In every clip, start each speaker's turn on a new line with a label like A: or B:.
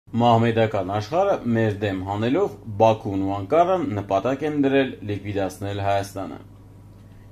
A: Մահմեդական աշխարհը մեր դեմ հանելով Բաքուն ու Անկարան նպատակ են դրել լիկվիդացնել Հայաստանը։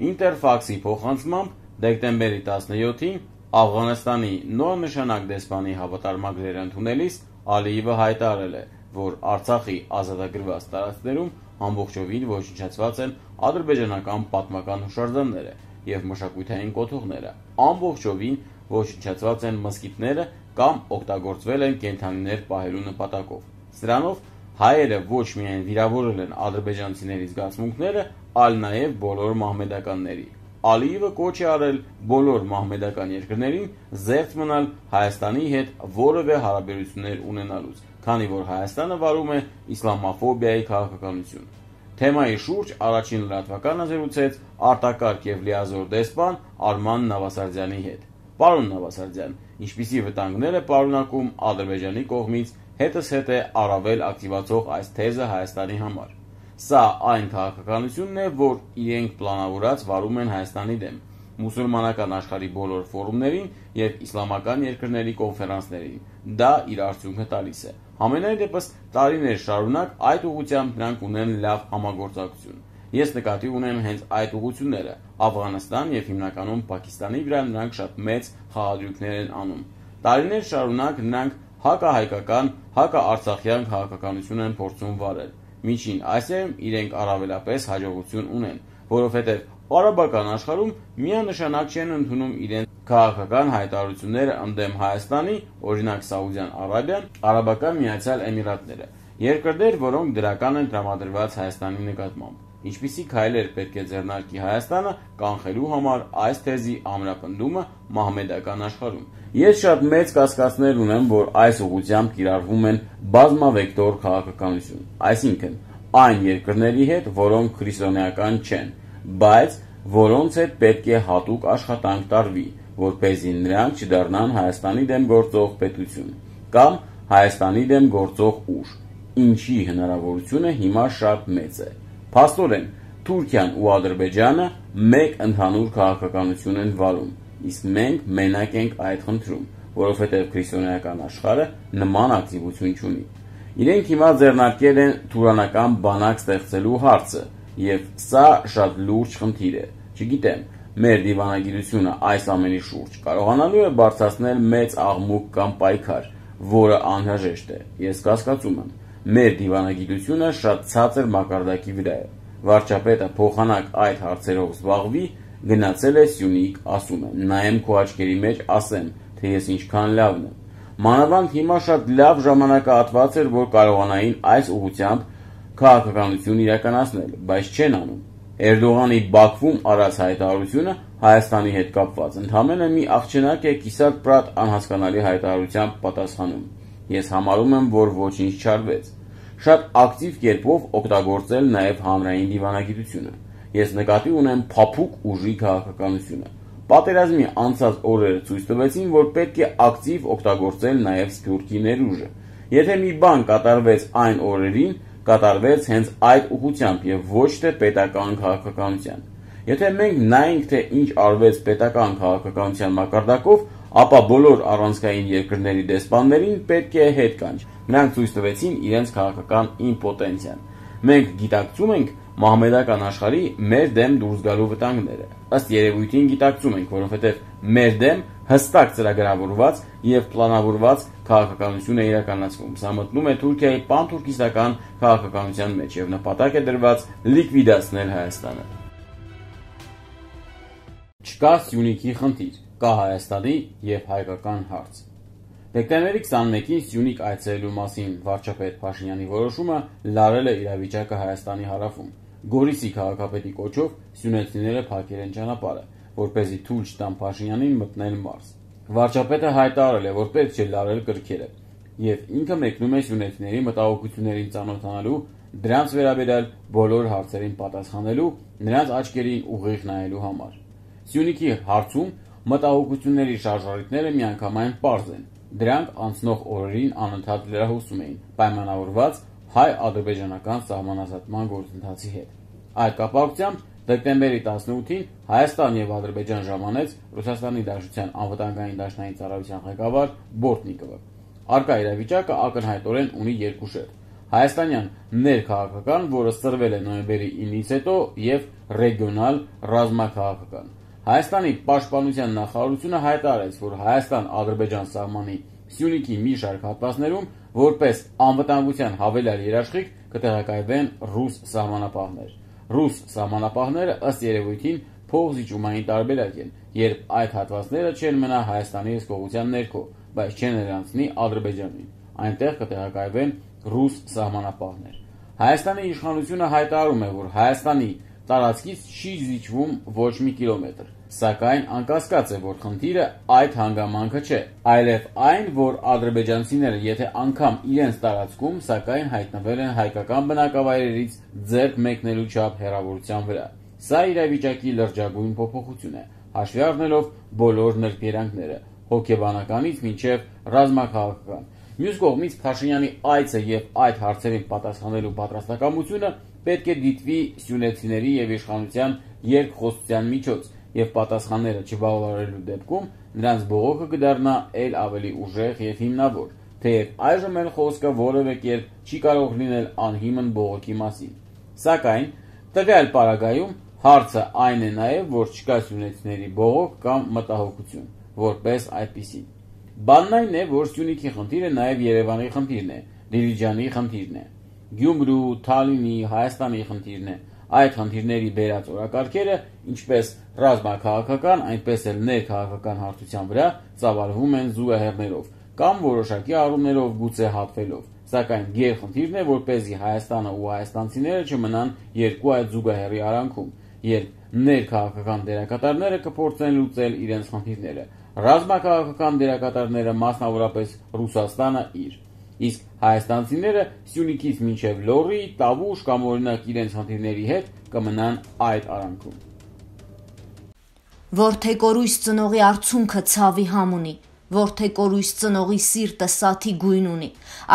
A: Ինտերֆաքսի փոխանցմամբ դեկտեմբերի 17-ին Աֆղանստանի նոր նշանակ դեսպանի հավատարմագրերը ընդունելիս Ալիևը հայտարարել է, որ Արցախի ազատագրված տարածքներում ամբողջովին ոչնչացված են ադրբեջանական պատմական հուշարձանները և մշակութային կոթողները, ամբողջովին ոչնչացված են մզկիթները կամ օգտագործվել են կենդանիներ պահելու նպատակով։ Սրանով հայերը ոչ միայն վիրավորել են ադրբեջանցիների զգացմունքները, այլ նաև բոլոր մահմեդականների։ Ալիևը կոչ է արել բոլոր մահմեդական երկրներին զերծ մնալ Հայաստանի հետ որևէ հարաբերություններ ունենալուց, քանի որ Հայաստանը վարում է իսլամաֆոբիայի քաղաքականություն։ Թեմայի շուրջ առաջին լրատվականը զրուցեց արտակարգ և լիազոր դեսպան Արման Նավասարդյանի հետ։ Պարոն Նավասարդյան, ինչպիսի վտանգներ է պարունակում Ադրբեջանի կողմից հետզհետե առավել ակտիվացող այս թեզը Հայաստանի համար։ Սա այն քաղաքականությունն է, որ իրենք պլանավորած վարում են Հայաստանի դեմ, մուսուլմանական աշխարհի բոլոր ֆորումներին և իսլամական երկրների կոնֆերանսներին։ Դա իր արդյունքը տալիս է։ Համենայն դեպս տարիներ շարունակ այդ ուղղությամբ նրանք ունեն լավ համագործակցություն։ Ես նկատի ունեմ հենց այդ ուղղությունները։ Աֆղանստան և հիմնականում Պակիստանի վրա նրանք շատ մեծ խաղադրույքներ են անում։ Տարիներ շարունակ նրանք հակահայկական, հակաարցախյան քաղաքականություն են փորձում վարել։ Միջին Ասիայում իրենք առավելապես հաջողություն ունեն, որովհետև արաբական աշխարհում միանշանակ չեն ընդունում իրենց քաղաքական հայտարարությունները ընդդեմ Հայաստանի, օրինակ Սաուդյան Արաբիան, Արաբական Միացյալ Էմիրատները, երկրներ, որոնք դրական են տրամադրված Հայաստանի նկատմամբ։ Ինչպիսի քայլեր պետք է ձեռնարկի Հայաստանը կանխելու համար այս թեզի ամրապնդումը մահմեդական աշխարհում։ Ես շատ մեծ կասկածներ ունեմ, որ այս ուղղությամբ կիրառվում են բազմավեկտոր քաղաքականություն, այսինքն այն երկրների հետ, որոնք քրիստոնեական չեն, բայց որոնց հետ պետք է հատուկ աշխատանք տարվի, որպեսզի նրանք չդառնան Հայաստանի դեմ գործող պետություն կամ Հայաստանի դեմ գործող ուժ, ինչի հնարավորությունը հիմա շատ մեծ է։ Փաստորեն, Թուրքիան ու Ադրբեջանը մեկ ընդհանուր քաղաքականություն են վարում, իսկ մենք մենակ ենք այդ խնդրում, որովհետև քրիստոնեական աշխարհը նման ակտիվություն չունի։ Իրենք հիմա ձեռնարկել են թուրանական բանակ ստեղծելու հարցը, և սա շատ լուրջ խնդիր է։ Չգիտեմ, մեր դիվանագիտությունը այս ամենի շուրջ կարողանալու է բարձրացնել մեծ աղմուկ կամ պայքար, որը անհրաժեշտ է։ Ես կասկածում եմ, մեր դիվանագիտությունը շատ ցածր մակարդակի վրա է։ Վարչապետը փոխանակ այդ հարցերով զբաղվի, գնացել է Սյունիք, ասում է, նայեմ քո աչքերի մեջ, ասեմ, թե ես ինչքան լավն եմ։ Մանավանդ հիմա շատ լավ ժամանակահատված էր, որ կարողանային այս ուղղությամբ քաղաքականություն իրականացնել, բայց չեն անում։ Էրդողանի Բաքվում արած հայտարարությունը Հայաստանի հետ կապված ընդամենը մի աղջնակ է կիսատ պրատ անհասկանալի հայտարարությամբ պատասխանում։ Ես համարում եմ, որ ոչինչ չարվեց։ Շատ ակտիվ կերպով օգտագործել նաև հանրային դիվանագիտությունը։ Ես նկատի ունեմ փափուկ ուժի քաղաքականությունը։ Պատերազմի անցած օրերը ցույց տվեցին, որ պետք է ակտիվ օգտագործել նաև սփյուռքի ներուժը։ Եթե մի բան կատարվեց այն օրերին, կատարվեց հենց այդ ուղղությամբ և ոչ թե պետական քաղաքականության։ Եթե մենք նայենք, թե ինչ արվեց պետական քաղաքականության մակարդակով, ապա բոլոր առանցքային երկրների դեսպաններին պետք է հետ կանչ։ Նրանք ցույց տվեցին իրենց քաղաքական իմպոտենցիան։ Մենք գիտակցում ենք մահմեդական աշխարհի մեր դեմ դուրս գալու վտանգները։ Ըստ երևույթին գիտակցում ենք, որովհետև մեր դեմ հստակ ծրագրավորված և պլանավորված քաղաքականություն է իրականացվում։ Սա մտնում է Թուրքիայի պանթուրքիստական քաղաքականության մեջ և նպատակ է դրված լիկվիդացնել Հայաստանը։ Չկա Սյունիքի խնդիր, կա Հայաստանի և հայկական հարց։ Դեկտեմբերի 21-ին Սյունիք այցելելու մասին վարչապետ Փաշինյանի որոշումը լարել է իրավիճակը Հայաստանի հարավում։ Գորիսի քաղաքապետի կոչով սյունեցիները փակել են ճանապարհը, որպեսզի թույլ չտան Փաշինյանին մտնել մարզ։ Վարչապետը հայտարարել է, որ պետք չէ լարել կրքերը, և ինքը մեկնում է սյունեցիների մտահոգություններին ծանոթանալու, դրանց վերաբերյալ բոլոր հարցերին պատասխանելու, նրանց աչքերին ուղիղ նայելու համար։ Սյունիքի հարցում մտահոգությունների շարժառիթները միանգամայն պարզ են։ Դրանք անցնող օրերին անընդհատ լրահոսում էին, պայմանավորված հայ-ադրբեջանական սահմանազատման գործընթացի հետ։ Այդ կապակցությամբ դեկտեմբերի 18-ին Հայաստան և Ադրբեջան ժամանեց Ռուսաստանի Դաշնության անվտանգային դաշնային ծառայության ղեկավար Բորտնիկովը։ Արկա իրավիճակը ակնհայտորեն ունի երկու շերտ. հայաստանյան ներքաղաքական, որը սրվել է նոյեմբերի 9-ից հետո, եւ ռեգիոնալ ռազմաքաղաքական։ Հայաստանի պաշտպանության նախարարությունը հայտարարեց, որ Հայաստան-Ադրբեջան սահմանի Սյունիքի մի շարք հատվածներում որպես անվտանգության հավելյալ երաշխիք կտեղակայվեն ռուս սահմանապահներ։ Ռուս սահմանապահները ըստ երևույթին փոխզիջումային տարբերակ են, երբ այդ հատվածները չեն մնա Հայաստանի հսկողության ներքո, բայց չեն նրանցնի Ադրբեջանին։ Այնտեղ կտեղակայվեն ռուս սահմանապահներ։ Հայաստանի իշխանությունը հայտարարում է, որ Հայաստանի տարածքից չի զիջվում ոչ մի կիլոմետր, սակայն անկասկած է, որ խնդիրը այդ հանգամանքը չէ, այլև այն, որ ադրբեջանցիները եթե անգամ իրենց տարածքում, սակայն հայտնվել են հայկական բնակավայրերից ձեռք մեկնելու չափ հեռավորության վրա։ Սա իրավիճակի լրջագույն փոփոխություն է, հաշվի առնելով բոլոր նրբերանգները, հոգեբանականից մինչև ռազմաքաղաքական։ Մյուս կողմից Փաշինյանի այցը եւ այդ հարցերին պատասխանելու պատրաստակամությունը պետք է դիտվի սյունեցիների եւ իշխանության երկխոսության միջոց, եւ պատասխանները չբավարարելու դեպքում նրանց բողոքը կդառնա ել ավելի ուժեղ եւ հիմնավոր, թեև այժմ էլ խոսքը որևէ կերպ չի կարող լինել անհիմն բողոքի մասին։ Սակայն տվյալ պարագայում հարցը այն է նաեւ, որ չկա սյունեցիների բողոք կամ մտահոգություն, որպես այդպիսի։ Բանն այն է, որ Սյունիքի խնդիրը նաեւ Երևանի խնդիրն է, Դիլիջանի խնդիրն է, Գյումրու, Թալինի, Հայաստանի խնդիրն է։ Այդ խնդիրների բերած օրակարգերը, ինչպես ռազմաքաղաքական, այնպես էլ ներքաղաքական հարթության վրա ծավալվում են զուգահեռներով կամ որոշակի առումներով գուցե հատվելով, սակայն գերխնդիրն է, որպեսզի Հայաստանը ու հայաստանցիները չմնան երկու այդ զուգահեռի արանքում, երբ ներքաղաքական դերակատարները կփորձեն լուծել իրենց խնդիրները, ռազմաքաղաքական դերակատարները, մասնավորապես Ռուսաստանը իր, իսկ հայաստանցիները Սյունիքից մինչև Լոռի, Տավուշ կամ օրինակ իրենց խնդիրների հետ կմնան այդ արանքում։
B: Որդեկորույս ծնողի արցունքը ցավի համ ունի, որդեկորույս ծնողի սիրտը սաթի գույն ունի,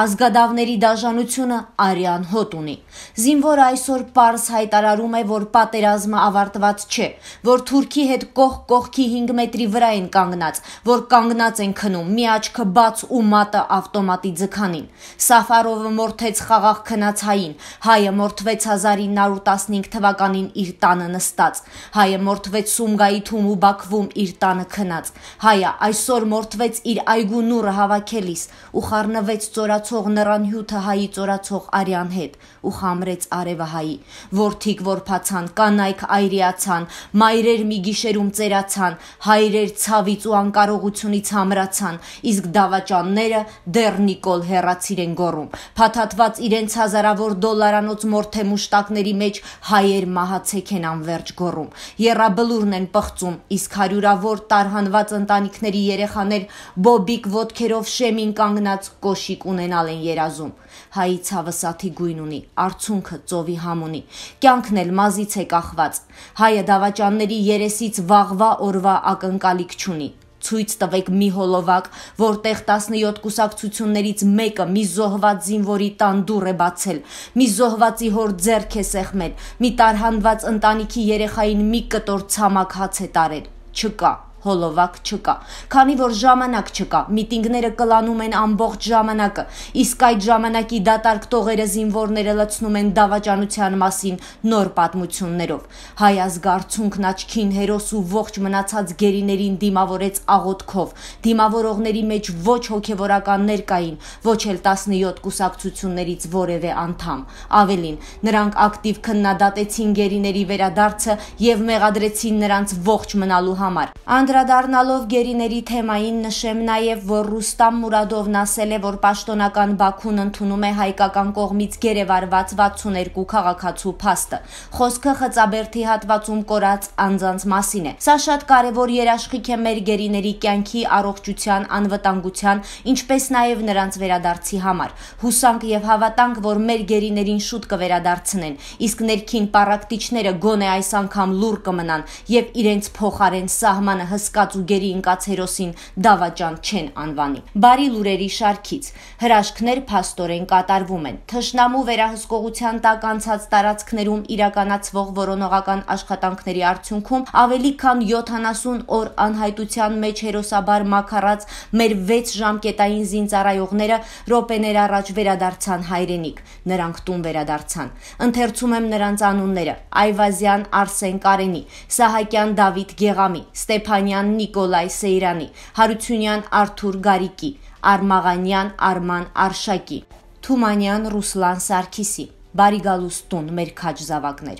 B: ազգադավների դաժանությունը արյան հոտ ունի։ Զինվորը այսօր պարզ հայտարարում է, որ պատերազմը ավարտված չէ, որ Թուրքի հետ կողք կողքի 5 մետրի վրա են կանգնած, որ կանգնած են քնում, մի աչքը բաց ու մատը ավտոմատի ձգանին։ Սաֆարովը մորթեց խաղաղ քնած հային, հայը մորթվեց 1915 թվականին իր տանը նստած, հայը մորթվեց Սումգայիթում ու Բաքվում իր տանը քնած, հայը այսօր մորթվեց իր այգու նուրը հավաքելիս ու խառնվեց ծորացող նռան հյութը հայի ծորացող արյան հետ ու խամրեց արևը հայի, որդիկ որփացան, կանայք այրիացան, մայրեր մի գիշերում ծերացան, հայրեր ցավից ու անկարողությունից համրացան, իսկ դավաճանները դեռ Նիկոլ հեռացիր են գոռում, փաթաթված իրենց հազարավոր դոլարանոց մորթե մուշտակների մեջ հայեր մահացեք են անվերջ գոռում, եռաբլուրն են պղծում, իսկ հարյուրավոր տարհանված ընտանիքների երեխաներ բոբիկ ոտքերով շեմին կանգնած կոշիկ ունենալ են երազում։ Հայի ցավը սաթի գույն ունի, արցունքը ծովի համ ունի, կյանքն էլ մազից է կախված, հայը դավաճանների երեսից վաղվա օրվա ակնկալիք չունի։ Ցույց տվեք մի հոլովակ, որտեղ 17 կուսակցություններից մեկը մի զոհված զինվորի տան դուռ է բացել, մի զոհվածի հոր ձեռք է սեղմել, մի տարհանված ընտանիքի երեխային մի կտոր ցամաք հաց է տարել։ Չկա, հոլովակ չկա, քանի որ ժամանակ չկա, միտինգները կլանում են ամբողջ ժամանակը, իսկ այդ ժամանակի դատարկ տողերը զինվորները լցնում են դավաճանության մասին նոր պատմություններով։ Հայ ազգարցունքն աչքին հերոս ու ողջ մնացած գերիներին դիմավորեց աղոթքով, դիմավորողների մեջ ոչ հոգևորականներ կային, ոչ էլ 17 կուսակցություններից որևէ անդամ։ Ավելին, նրանք ակտիվ քննադատեցին գերիների վերադարձը եւ մեղադրեցին նրանց ողջ մնալու համար։ Անդրադառնալով գերիների թեմային նշեմ նաև, որ Ռուստամ Մուրադովն ասել է, որ պաշտոնական Բաքուն ընդունում է հայկական կողմից գերեվարված 62 քաղաքացու փաստը։ Խոսքը Խծաբերդի հատվածում կորած անձանց մասին է։ Սա շատ կարևոր երաշխիք է մեր գերիների կյանքի, առողջության, անվտանգության, ինչպես նաև նրանց վերադարձի համար։ Հուսանք եւ հավատանք, որ մեր գերիներին շուտ կվերադարձնեն, իսկ ներքին պառակտիչները գոնե այս անգամ լուռ կմնան եւ իրենց փոխարեն սահմանը հսկած ու գերի ընկած հերոսին դավաճան չեն անվանի։ Բարի լուրերի շարքից հրաշքներ փաստորեն կատարվում են։ Թշնամու վերահսկողության տակ անցած տարածքներում իրականացվող որոնողական աշխատանքների արդյունքում ավելի քան 70 օր անհայտության մեջ հերոսաբար մաքարած մեր 6 ժամկետային զինծառայողները րոպեներ առաջ վերադարձան հայրենիք։ Նրանք տուն վերադարձան։ Ընթերցում եմ նրանց անունները՝ Այվազյան Արսեն Կարենի, Սահակյան Դավիթ Գեղամի, Ստեփանյան Նիկոլայ Սեյրանի, Հարությունյան Արթուր Գարիկի, Արմաղանյան Արման Արշակի, Թումանյան Ռուսլան Սարգիսի։ Բարի գալուս տուն, մեր քաջ զավակներ։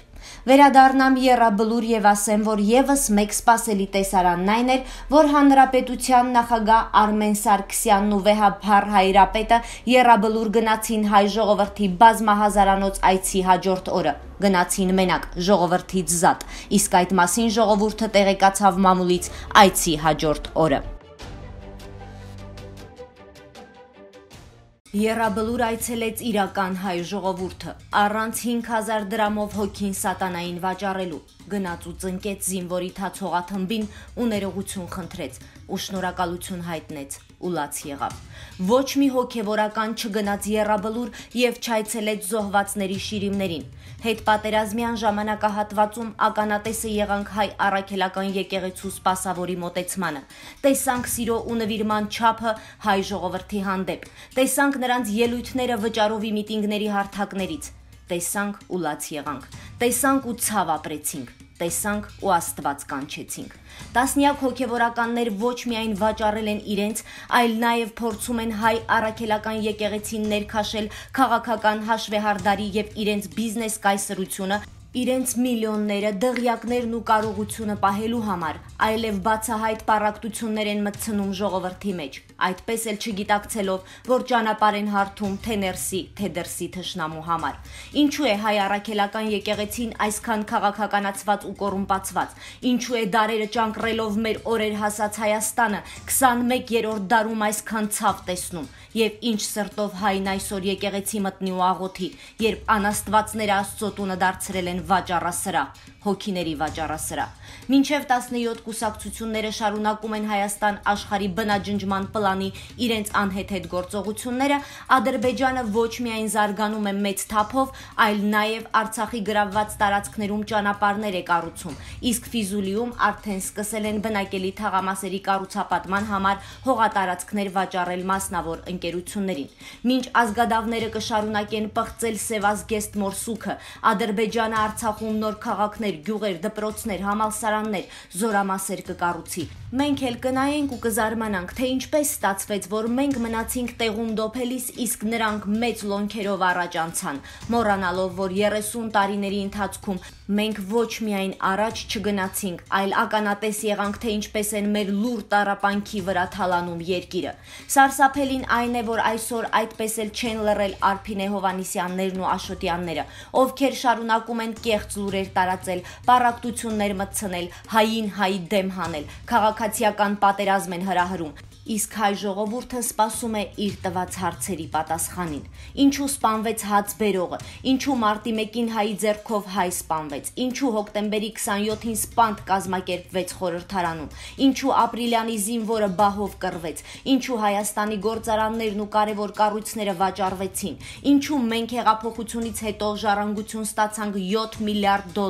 B: Վերադառնամ եռաբլուր եւ ասեմ, որ եւս մեկ սպասելի տեսարանն այն էր, որ Հանրապետության նախագահ Արմեն Սարգսյանն ու վեհափառ Հայրապետը եռաբլուր գնացին հայ ժողովրդի բազմահազարանոց այցի հաջորդ օրը։ Գնացին մենակ, ժողովրդից զատ, իսկ այդ մասին ժողովուրդը տեղեկացավ մամուլից այցի հաջորդ օրը։ Եռաբլուր այցելեց իրական հայ ժողովուրդը, առանց 5000 դրամով հոգին սատանային վաճառելու, գնաց ու ծնկեց զինվորի թացողաթմբին ու ներողություն խնդրեց, ու շնորհակալություն հայտնեց, ու լաց եղավ։ Ոչ մի հոգևորական չգնաց եռաբլուր եւ չայցելեց զոհվածների շիրիմներին։ Հետպատերազմյան ժամանակահատվածում ականատեսը եղանք հայ առաքելական եկեղեցու սպասավորի մոտեցմանը։ Տեսանք սիրո ու նվիրման չափը հայ ժողովրդի հանդեպ։ Տեսանք նրանց ելույթները վճարովի միտինգների հարթակներից։ Տեսանք ու լաց եղանք։ Տեսանք ու ցավ ապրեցինք։ Տեսանք ու Աստված կանչեցինք։ Տասնյակ հոգևորականներ ոչ միայն վաճառել են իրենց, այլ նաև փորձում են հայ առաքելական եկեղեցին ներքաշել քաղաքական հաշվեհարդարի եւ իրենց բիզնես կայսրությունը, իրենց միլիոնները, դղյակներն ու կարողությունը պահելու համար, այլև բացահայտ պառակտություններ են մտցնում ժողովրդի մեջ, այդպես էլ չգիտակցելով, որ ճանապարհ են հարթում թե ներսի, թե դրսի թշնամու համար։ Ինչու է հայ առաքելական եկեղեցին այսքան քաղաքականացված ու կոռումպացված։ Ինչու է դարերը ճանկռելով մեր օրեր հասած Հայաստանը 21-րդ դարում այսքան ցավ տեսնում։ Եվ ինչ սրտով հայն այսօր եկեղեցի մտնի ու աղոթի, երբ անաստվածները Աստծո տունը դարձրել են վաճառասրահ, հոգիների վաճառասրահ։ Մինչև 17 կուսակցությունները շարունակում են Հայաստան աշխարհի բնաջնջման պլանի իրենց անհեթեթ գործողությունները, Ադրբեջանը ոչ միայն զարգանում է մեծ թափով, այլ նաև Արցախի գրավված տարածքներում ճանապարհներ է կառուցում, իսկ Ֆիզուլիում արդեն սկսել են բնակելի թաղամասերի կառուցապատման համար հողատարածքներ վաճառել մասնավոր ընկերություններին։ Մինչ ազգադավները կշարունակեն պղծել սևազգեստ մորսուքը, Ադրբեջանը Արցախում նոր քաղաքներ, գյուղեր, դպրոցներ, համալսարաններ, զորամասեր կկառուցի։ Մենք էլ կնայենք ու կզարմանանք, թե ինչպես ստացվեց, որ մենք մնացինք տեղում դոփելիս, իսկ նրանք մեծ լոնքերով առաջ անցան, մոռանալով, որ 30 տարիների ընթացքում մենք ոչ միայն առաջ չգնացինք, այլ ականատես եղանք, թե ինչպես են մեր լուր տառապանքի վրա թալանում երկիրը։ Սարսափելին այն է, որ այսօր այդպես էլ չեն լռել Արփինե Հովհաննիսյաններն ու Աշոտյանները, ովքեր շարունակում են կեղծ լուրեր տարածել, պառակտություններ մտցնել, հային հայի դեմ հանել, քաղաքացիական պատերազմ են հրահրում, իսկ հայ ժողովուրդը սպասում է իր տված հարցերի պատասխանին։ Ինչու սպանվեց հացբերողը, ինչու մարտի 1-ին հայի ձեռքով հայ սպանվեց, ինչու հոկտեմբերի 27-ին սպանդ կազմակերպվեց խորհրդարանում, ինչու ապրիլյանի զինվորը բահով կռվեց, ինչու Հայաստանի գործարաններն ու կարևոր կառույցները վաճառվեցին, ինչու մենք հեղափոխությունից հետո ժառանգություն ստացանք $7 միլիարդ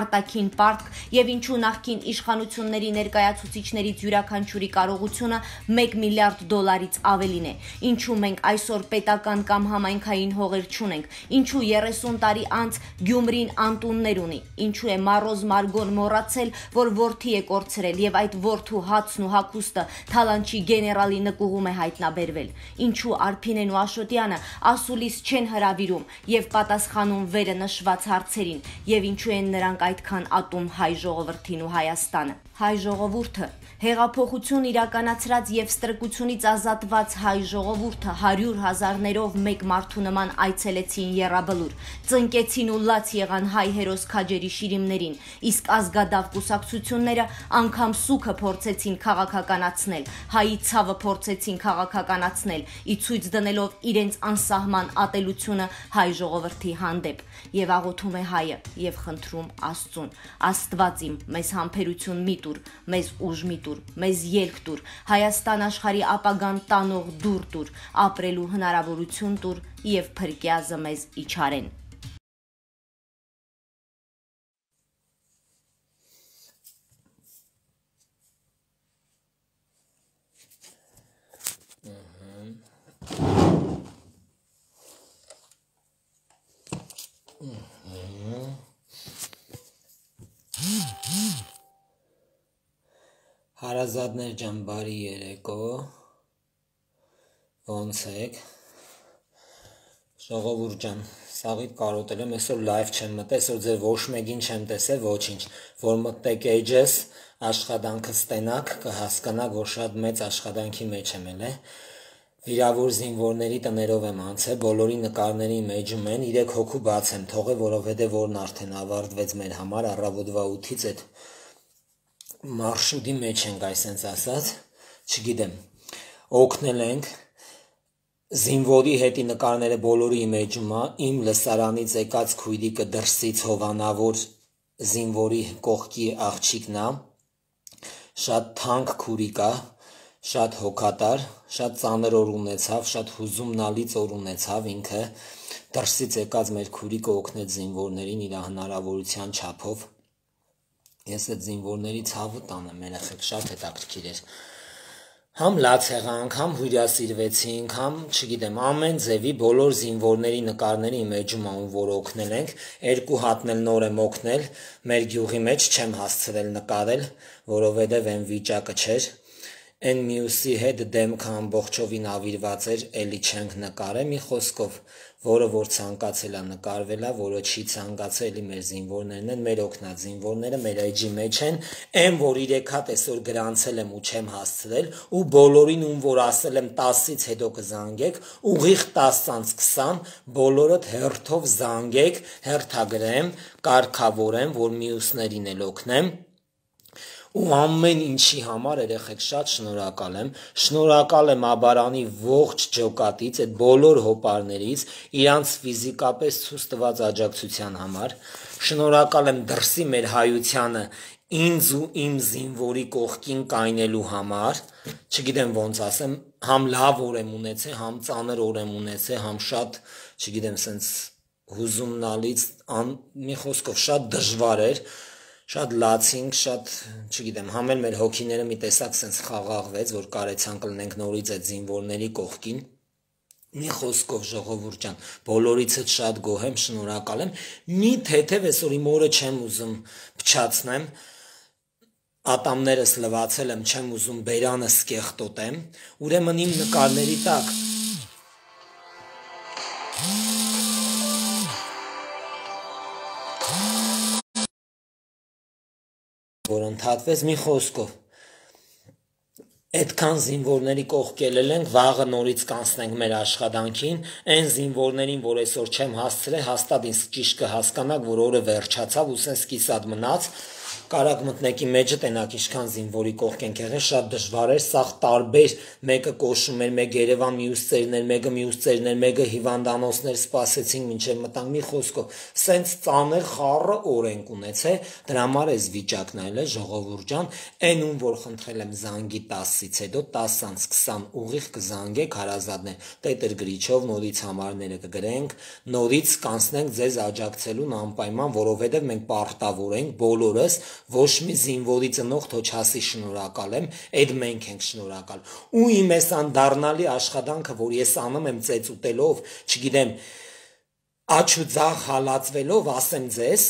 B: արտաքին պարտք եւ ինչու նախկին իշխանությունների ներկայացուցիչներից յուրաքանչյուրի կարողությունը $1 միլիարդ ավելին է, ինչու մենք այսօր պետական կամ համայնքային հողեր չունենք, ինչու 30 տարի անց Գյումրին անտուններ ունի, ինչու է Մարոզ Մարգոն մոռացել, որ որդի է կորցրել եւ այդ որդու հացն ու հագուստը Թալանչի գեներալի նկուղում է հայտնաբերվել, ինչու Արփինեն ու Աշոտյանը ասուլիս չեն հրավիրում եւ պատասխանում վերը նշված հարցերին, եւ ինչու են նրանք այդքան ատում հայ ժողովրդին ու Հայաստանը։ Հայ ժողովուրդը, հեղափոխություն իրականացրած եւ ստրկությունից ազատված հայ ժողովուրդը 100,000-ներով մեկ մարդու նման այցելեցին եռաբլուր, ծնկեցին ու լաց եղան հայ հերոս քաջերի շիրիմներին, իսկ ազգադավ կուսակցությունները անգամ սուքը փորձեցին քաղաքականացնել, հայի ցավը փորձեցին քաղաքականացնել, ի ցույց դնելով իրենց անսահման ատելությունը հայ ժողովրդի հանդեպ, եւ աղոթում է հայը եւ խնդրում Աստծուն. Աստված իմ, մեզ համբերություն մի տուր, մեզ ուժ մի տուր, մեզ ելք տուր, Հայաստան աշխարհի ապագան տանող դուռ տուր, ապրելու հնարավորություն տուր եւ փրկյազը մեզ իջարեն։
C: Հարազատներ ջան, բարի երեկո, ոնց եք, ժողովուրդ ջան, սաղիթ կարոտել եմ, այսօր լայվ չեմ մտել, այսօր ձեր ոչ մեկին չեմ տեսել, ոչինչ, որ մտեք էջես, աշխատանքը ստենակ, կհասկանաք, որ շատ մեծ աշխատանքի մեջ եմ էլ է, վիրավոր զինվորների տներով եմ անցել, բոլորի նկարների մեջում են, 3 հոգու բաց եմ թողել, որովհետև որն արդեն ավարտվեց մեր համար, առավոտվա 8-ից այդ մարշրուտի մեջ ենք, այսպես ասած, չգիտեմ, օգնել ենք, զինվորի հետի նկարները բոլորի մեջում է, իմ լսարանից եկած քույրիկը դրսից հովանավոր զինվորի կողքի աղջիկն է, շատ թանկ քուրիկ է, շատ հոգատար, շատ ծանր օր ունեցավ, շատ հուզումնալից օր ունեցավ ինքը, դրսից եկած մեր քուրիկը օգնեց զինվորներին իր հնարավորության չափով, ես այդ զինվորների ցավը տանեմ, երեխեք շատ հետաքրքիր էր, համ լաց եղանք, համ հյուրասիրվեցինք, համ, չգիտեմ, ամեն ձևի բոլոր զինվորների նկարների մեջում ում որ օգնել ենք, 2 հատն էլ նոր եմ օգնել, մեր գյուղի մեջ չեմ հասցրել նկարել, որովհետև այն վիճակը չէր, այն մյուսի հետ դեմքը ամբողջովին ավիրված էր, էլի չենք նկարել, մի խոսքով, որը որ ցանկացել է նկարվել է, որը չի ցանկացել, էլի մեր զինվորներն են, մեր օգնած զինվորները, մեր էջի մեջ են, այն որ 3 հատ այսօր գրանցել եմ ու չեմ հասցրել, ու բոլորին ում որ ասել եմ 10-ից հետո կզանգեք, ուղիղ 10:20, բոլորդ հերթով զանգեք, հերթագրեմ, կարգավորեմ, որ մյուսներին էլ օգնեմ, ու ամեն ինչի համար երեխեք շատ շնորհակալ եմ Աբարանի ողջ ջոկատից, այդ բոլոր հոպարներից, իրանց ֆիզիկապես ցույց տված աջակցության համար, շնորհակալ եմ դրսի մեր հայությանը ինձ ու իմ զինվորի կողքին կայնելու համար, չգիտեմ ոնց ասեմ, համ լավ օր եմ ունեցել, համ ծանր օր եմ ունեցել, համ շատ, չգիտեմ, սենց հուզումնալից, մի խոսքով շատ դժվար էր, շատ լացինք, շատ, չգիտեմ, համ էլ մեր հոգիները մի տեսակ սենց խաղաղվեց, որ կարեցանք լնենք նորից այդ զինվորների կողքին, մի խոսքով ժողովուրդ ջան, բոլորիցդ շատ գոհ եմ, շնորհակալ եմ, մի թեթև այսօր իմ օրը չեմ ուզում փչացնեմ, ատամներս լվացել եմ, չեմ ուզում բերանս կեղտոտեմ, ուրեմն իմ նկարների տակ որ ընդհատվեց մի խոսքով, այդքան զինվորների կողքելել ենք, վաղը նորից կանցնենք մեր աշխատանքին, այն զինվորներին, որ այսօր չեմ հասցրել, հաստատ ինձ ճիշտ կհասկանաք, որ օրը վերջացավ ու սենց կիսատ մնաց, կարակ մտնեկի մեջը տենակ ինչքան զինվորի կողք ենք եղել, շատ դժվար էր, սաղ տարբեր, մեկը կոշում էր, մեկ Երևան մյուս ծերներ, մեկը մյուս ծերներ, մեկը հիվանդանոցներ սպասեցինք մինչև մտանք, մի խոսքով, սենց ծանր խառը օր ենք ունեցել, դրա համար էս վիճակն այլ է, ժողովուրդ ջան, այն ում որ խնդրել եմ զանգի 10-ից հետո 10:20 ուղիղ կզանգեք հարազատներ, Տետր Գրիչով նորից համարները կգրենք, նորից կանցնենք ձեզ աջակցելուն անպայման, որովհետև մենք պարտավոր ենք բոլորս, ոչ մի զինվորի ծնող թող չասի շնորհակալ եմ, այդ մենք ենք շնորհակալ, ու իմ այս անդառնալի աշխատանքը, որ ես անում եմ ծեծ ուտելով, չգիտեմ, աչ ու ձախ հալածվելով, ասեմ ձեզ,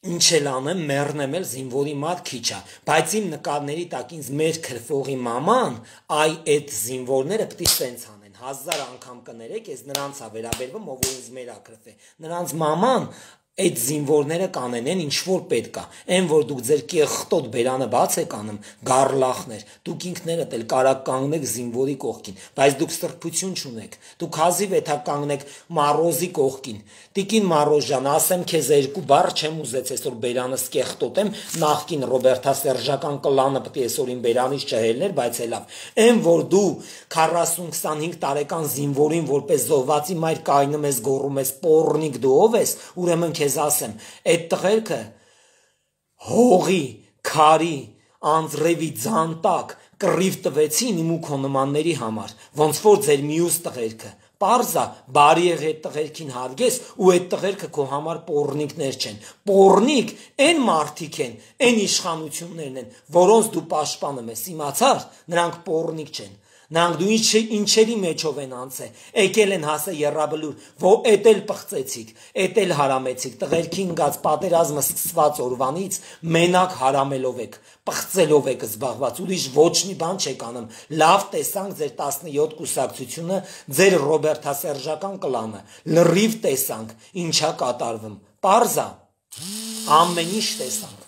C: ինչ էլ անեմ, մեռնեմ էլ զինվորի մատ քիչ է, բայց իմ նկարների տակ ինձ մեր քրֆողի մաման, այ այդ զինվորները պիտի սենց անեն, 1000 անգամ կներեք, ես նրանց է վերաբերվում, ով որ ինձ մեր ակրֆ է, նրանց մաման, այդ զինվորները կանենեն ինչ որ պետք է, այն որ դուք ձեր կեղտոտ բերանը բաց եք անում, գառլախներ, դուք ինքներդ էլ կարակ կանգնեք զինվորի կողքին, բայց դուք սրբություն չունեք, դուք հազիվ էթա կանգնեք Մարոզի կողքին, տիկին Մարոզ ջան, ասեմ քեզ 2 բառ չեմ ուզեց այսօր բերանս կեղտոտեմ, նախկին Ռոբերտասերժական կլանը պետք է այսօր իմ բերանից չհելներ, բայց հելավ, այն որ դու 40-25 տարեկան զինվորին որպես զոհվածի մայր կայնում ես, գոռում ես, պոռնիկ դու ով ես, ուրեմն քեզ ասեմ, այդ տղերքը հողի, քարի, անձրևի ձան տակ կռիվ տվեցին իմ ու քո նմանների համար, ոնց որ ձեր մյուս տղերքը։ Պարզա, բարի եղ այդ տղերքին հարգես ու այդ տղերքը քո համար պոռնիկներ չեն։ Պոռնիկ այն մարդիկ են, այն իշխանություններն են, որոնց դու պաշտպանում ես, իմացար, նրանք պոռնիկ չեն։ Նրանք դու ինչերի մեջով են անցել, եկել են հասել եռաբլուր, որ էդ էլ պղծեցիք, էդ էլ հարամեցիք, տղերքին գած պատերազմը սկսված օրվանից մենակ հարամելով եք, պղծելով եք զբաղված, ուրիշ ոչ մի բան չեք անում։ Լավ տեսանք ձեր 17 կուսակցությունը, ձեր ռոբերտասերժական կլանը, լրիվ տեսանք, ինչա կատարվում, պարզա, ամեն ինչ տեսանք։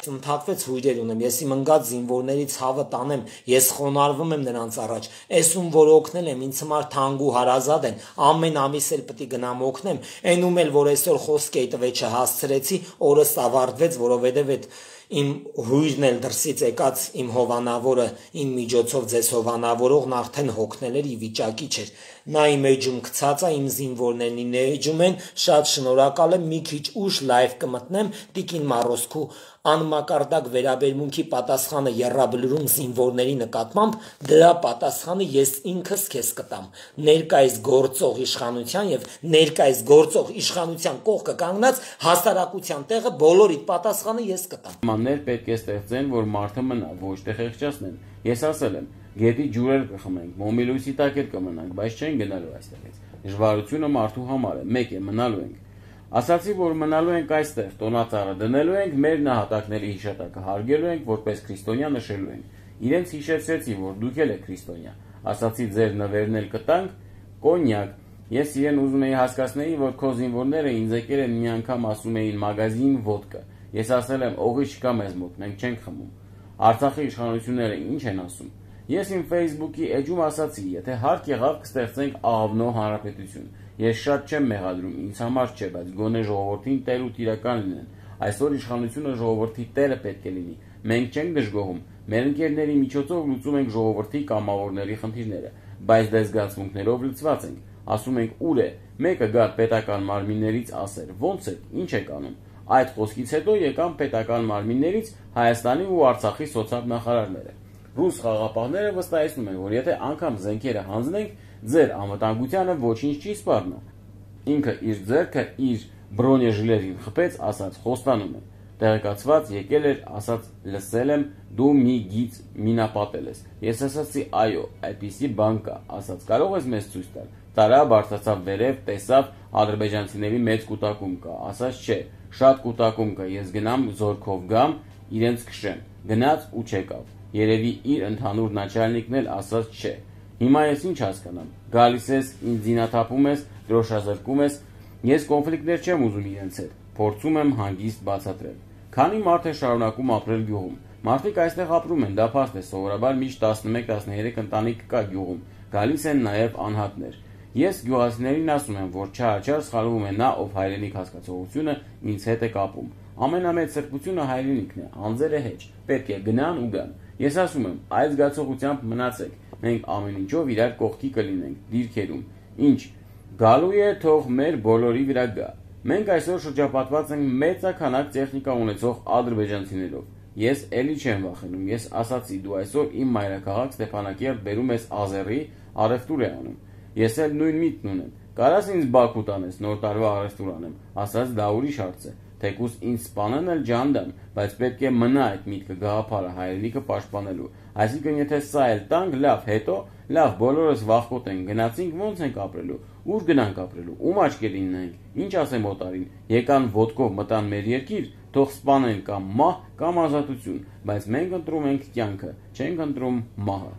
C: Ընդհատվեց հույրեր ունեմ, ես իմ ընկած զինվորների ցավը տանեմ, ես խոնարհվում եմ նրանց առաջ, էսում որ օգնել եմ, ինձ համար թանկ ու հարազատ են, ամեն ամիս էլ պետք է գնամ օգնեմ, այնում էլ որ այսօր խոսքի տվեչը հասցրեցի, օրս ավարտվեց, որովհետև այդ իմ հույրն էլ դրսից եկած իմ հովանավորը, իմ միջոցով ձեզ հովանավորողն արդեն հոգնել էր ի վիճակի չէր, նա իմ էջում գցած է, իմ զինվորներն ինձ էջում են, շատ շնորհակալ եմ, մի քիչ ուշ լայվ կմտնեմ, Տիկին Մարոսկու անմակարդակ վերաբերմունքի պատասխանը եռաբլուրում զինվորների նկատմամբ, դրա պատասխանը ես ինքս քեզ կտամ, ներկայիս գործող իշխանության եւ ներկայիս գործող իշխանության կողքը կանգնած հասարակության տեղը բոլորիդ պատասխանը ես կտամ։
A: Մաններ պետք է ստեղծեն, որ մարդը մնա, ոչ թե խեղճացնեն։ Ես ասել եմ, գետի ջուրեր կխմենք, մոմիլույսի տակ էլ կմնանք, բայց չեն գնալու այստեղից։ Դժվարությունը մարդու համար է, մեկ է մնալու ենք։ Ասացի, որ մնալու ենք այստեղ, տոնածառը դնելու ենք, մեր նահատակների հիշատակը հարգելու ենք, որպես քրիստոնյա նշելու ենք։ Իրենց հիշեցրեցի, որ դուք էլ եք քրիստոնյա։ Ասացի, ձեր նվերն էլ կտանք, կոնյակ։ Ես իրեն ուզում էի հասկացնեի, որ քո զինվորները ինձ եկել են մի անգամ ասում էին մագազին ոդկա։ Ես ասել եմ, օղի չկա մեզ մոտ, մենք չենք խմում։ Արցախի իշխանությունները ինչ են ասում։ Ես իմ Facebook-ի էջում ասացի, եթե հարկ եղավ կստեղծենք աղավնո հանրապետություն։ Ես շատ չեմ մեղադրում, ինձ համար չէ, բայց գոնե ժողովրդին տեր ու տիրական լինեն։ Այսօր իշխանությունը ժողովրդի տերը պետք է լինի։ Մենք չենք դժգոհում, մեր ընկերների միջոցով լուծում ենք ժողովրդի կամավորների խնդիրները, բայց դες զգացմունքներով լցված ենք։ Ասում ենք ուր է, մեկը գա պետական մարմիններից ասեր, ոնց է, ինչ եք անում։ Այդ խոսքից հետո եկան պետական մարմիններից Հայաստանի ու Արցախի սոցիալ-նախարարները։ Ռուս խաղապահները վստահեցնում են, որ եթե անգամ զենքերը հանձնենք, ձեր անվտանգությանը ոչինչ չի սպառնա։ Ինքը իր ձեռքը իր բրոնեժիլերին խփեց, ասաց խոստանում է։ Տեղեկացված եկել էր, ասաց լսել եմ, դու մի գիծ մինապատել ես։ Ես ասացի այո, այդպիսի բան կա, ասաց կարող ես մեզ ցույց տալ։ Տարա բարձրացավ վերև, տեսավ ադրբեջանցիների մեծ կուտակում կա, ասաց չէ, շատ կուտակում կա, ես գնամ զորքով գամ, իրենց քշեմ։ Գնաց ու չեկավ։ Երևի իր ընդհանուր начальникն էլ ասաց չէ։ Հիմա ես ինչ հասկանամ։ Գալիս ես, ինձ զինաթափում ես, դրոշազրկում ես։ Ես կոնֆլիկտներ չեմ ուզում իրենց հետ։ Փորձում եմ հանգիստ բացատրել։ Քանի մարդ է շարունակում ապրել գյուղում։ Մարդիկ այստեղ ապրում են, դա փաստ է, սովորաբար միշտ 11-13 ընտանիք կա գյուղում։ Գալիս են նաև անհատներ։ Ես գյուղացիներին ասում եմ, որ չարաչար սխալվում է նա, ով հայրենիք հասկացողությունը ինձ հետ է կապում։ Ամենամեծ սրբությունը հայրենիքն է, անձերը հեչ։ Պետք է գնան ու գան։ Ես ասում եմ, այդ զգացողությամբ մնացեք։ Մենք ամեն ինչով իրար կողքի կլինենք, դիրքերում։ Ինչ գալու է, թող մեր բոլորի վրա գա։ Մենք այսօր շրջապատված ենք մեծաքանակ տեխնիկա ունեցող ադրբեջանցիներով։ Ես էլի չեմ վախենում, ես ասացի, դու այսօր իմ մայրաքաղաք Ստեփանակերտ բերում ես Ազերի, առևտուր է անում։ Ես էլ նույն միտքն ունեմ։ Կարաս ինձ Բաքու տանես, նոր տարվա առևտուր անեմ, ասաց դա ուրիշ հարց է։ Թեկուզ ինձ սպանեն էլ ջանդամ, բայց պետք է մնա այդ միտքը գաղափարը հայրենիքը պաշտպանելու։ Այսինքն եթե սա էլ տանք, լավ, հետո լավ, բոլորս վախկոտ ենք, գնացինք, ոնց ենք ապրելու։ Ուր գնանք ապրելու։ Ում աչքերին նայենք։ Ինչ ասեմ օտարին։ Եկան ոդկով մտան մեր երկիր, թող սպանեն կամ մահ կամ ազատություն, բայց մենք ընտրում ենք կյանքը, չենք ընտրում մահը։